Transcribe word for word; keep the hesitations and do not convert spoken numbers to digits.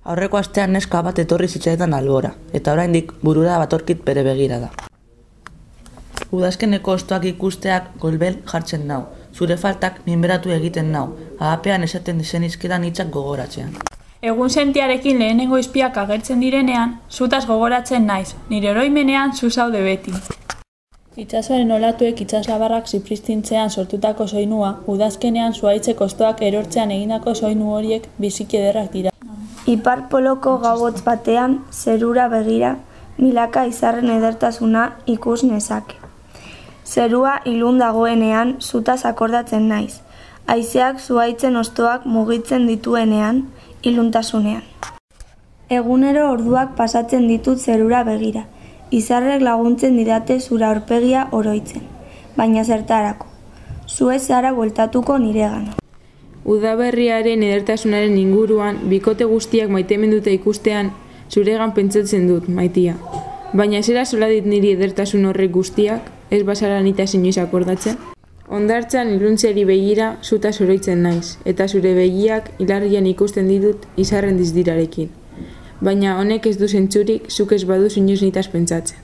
Aurreko astean neska bat etorri zitzaidan albora, eta oraindik burura batorkit bere begirada. Udazkeneko hostoak ikusteak golbel jartzen nau, zure faltak minberatu egiten nau, ahapean esaten zenizkidan hitzak gogoratzean. Egun sentiarekin lehenengo izpiak agertzen direnean, zutaz gogoratzen naiz, nire oroimenean zu zaude beti. Itsasoaren olatuek itsaslabarrak zipriztintzean sortutako soinua, udazkenean zuhaitzek hostoak erortzean egindako soinu horiek biziki ederrak dira. Ipar poloko gauotz batean, zerura begira, milaka izarren edertasuna ikus nezake. Zerua ilun dagoenean, zutaz akordatzen naiz. Haizeak zuhaitzen hostoak mugitzen dituenean, iluntasunean. Egunero orduak pasatzen ditut zerura begira. Izarrek laguntzen didate zura aurpegia oroitzen. Baina zertarako. Zu ez zara bueltatuko niregana. Udaberriaren edertasunaren inguruan, bikote guztiak maiteminduta ikustean, zuregan pentsatzen dut, maitia. Baina zera zola dit niri edertasun horrek guztiak, ez bazara nita inoiz akordatzen? Hondartzan iluntzeari begira zuta zoroitzen naiz, eta zure begiak hilarrian ikusten ditut izarren dizdirarekin. Baina honek ez du zentzurik, zuk ez badu inoiz nitaz pentsatzen.